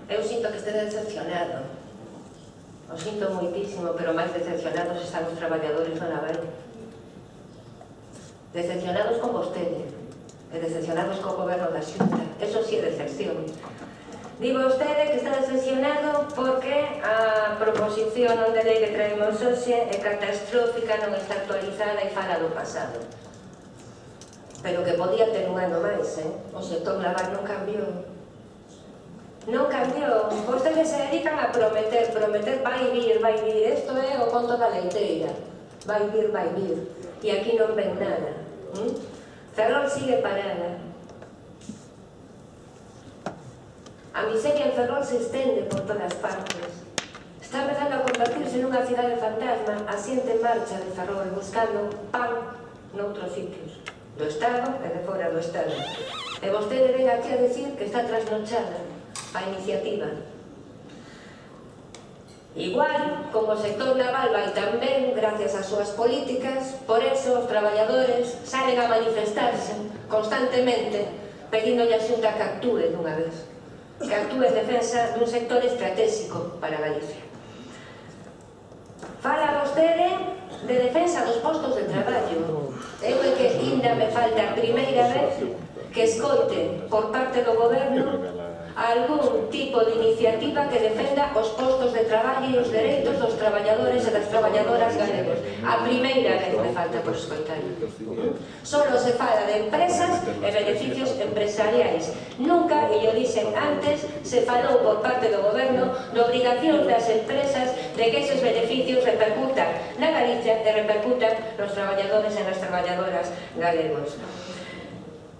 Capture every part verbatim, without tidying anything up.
Eu sinto que estea decepcionado. O sinto moitísimo, pero máis decepcionados están os traballadores do naval. Decepcionados con vostede e decepcionados co goberno da Xunta. Eso sí é decepción. Digo vostede que está decepcionado porque a proposición de lei que traemos hoxe é catastrófica, non está actualizada e fala do pasado. Pero que podía ter un ano máis, eh? O sector naval non cambiou. Non cambiou. Vostedes se dedican a prometer, prometer, vai vir, vai vir. Isto é o conto da leiteira. Vai vir, vai vir. E aquí non ven nada. ¿Mm? Ferrol sigue parada. A miseria en Ferrol se estende por todas partes. Está empezando a convertirse nunha cidade fantasma, a xente en marcha de Ferrol, buscando pan noutros sitios, do Estado e de fora do Estado. E vostede ven aquí a decir que está trasnochada a iniciativa. Igual, como o sector naval vai tamén, gracias ás súas políticas, por eso os traballadores salen a manifestarse constantemente pedíndolle a Xunta que actúe dunha vez, que actúe en defensa dun sector estratégico para Galicia. Fala vostede de defensa dos postos de traballo. Eu é que ainda me falta a primeira vez que escoite por parte do goberno algún tipo de iniciativa que defenda os postos de traballo e os dereitos dos traballadores e das traballadoras galegos. A primeira vez me falta por escoitar. Solo se fala de empresas e beneficios empresariais. Nunca, e yo dixen antes, se falou por parte do goberno de obrigación das empresas de que esos beneficios repercutan na Galicia e repercutan nos traballadores e nas traballadoras galegos.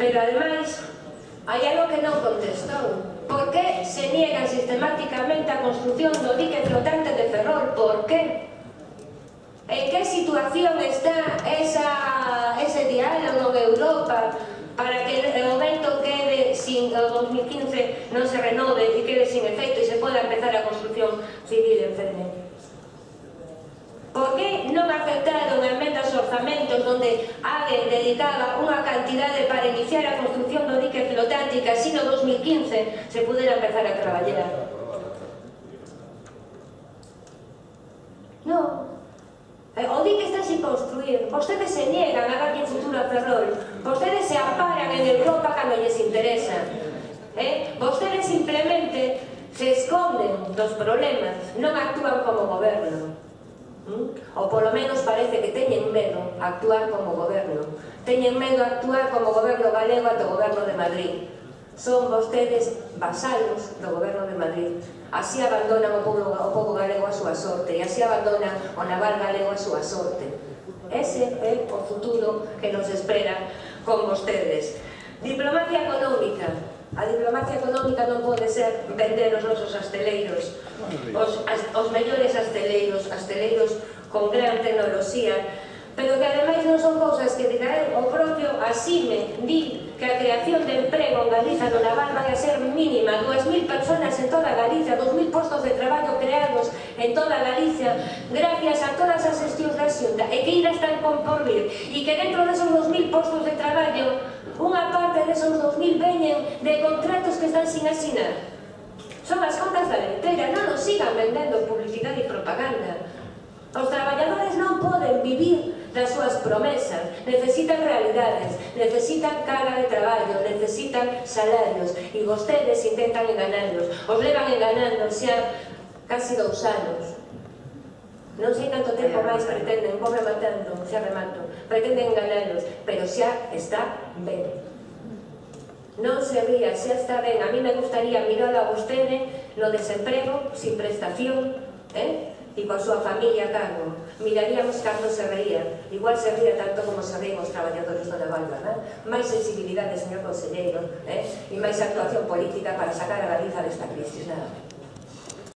Pero, ademais, hai algo que non contestou. Por que se niega sistemáticamente a construción do dique flotante de Ferrol? Por que? En que situación está esa, ese diálogo de Europa para que o vento quede sin, o dos mil quince non se renove e quede sin efecto e se poda empezar a construción civil en Ferrol? Por que non aceptaron emendas orzamentos onde ADE dedicaba unha cantidade para iniciar a construción do dique flotante e que así no dos mil quince se pudera empezar a traballar? Non. O dique está sin construir. Vostedes se niegan a darlle futuro a Ferrol. Vostedes se amparan en Europa cando lles interesa. Eh? Vostedes simplemente se esconden dos problemas, non actúan como goberno. Ou polo menos parece que teñen medo a actuar como goberno. Teñen medo a actuar como goberno galego ante o goberno de Madrid. Son vostedes vasalos do goberno de Madrid. Así abandonan o povo, o povo galego a súa sorte e así abandonan o naval galego a súa sorte. Ese é o futuro que nos espera con vostedes. Diplomacia económica. A diplomacia económica non pode ser vender os nosos asteleiros, os, as, os mellores asteleiros, asteleiros con gran tecnoloxía, pero que ademais non son cousas que diga o propio Asime di que a creación de emprego en Galiza no naval vai a ser mínima, dúas mil personas en toda Galicia, dos mil postos de traballo creados en toda Galicia gracias a todas as xestións da Xunta e que ainda están por vir e que dentro desos dos mil postos de traballo unha parte desos dos mil veñen de contratos que están sin asinar. Son as contas da leiteira, non nos sigan vendendo publicidade e propaganda. Os traballadores non poden vivir das súas promesas, necesitan realidades, necesitan carga de traballo, necesitan salarios e vostedes intentan enganarlos. Os levan enganando xa casi dous anos. Non sei canto tempo máis pretenden, vou rematando, xa remato, pretenden enganarlos, pero xa está ben. Non se ría, xa está ben. A mí me gustaría mirar a vostede no desemprego, sin prestación, eh? E coa súa familia a cargo. Miraríamos cando se reía. Igual se ría tanto como se ríen os traballadores do naval, verdad? Máis sensibilidade, señor conselleiro, eh? E máis actuación política para sacar a Galiza desta crisis, nada.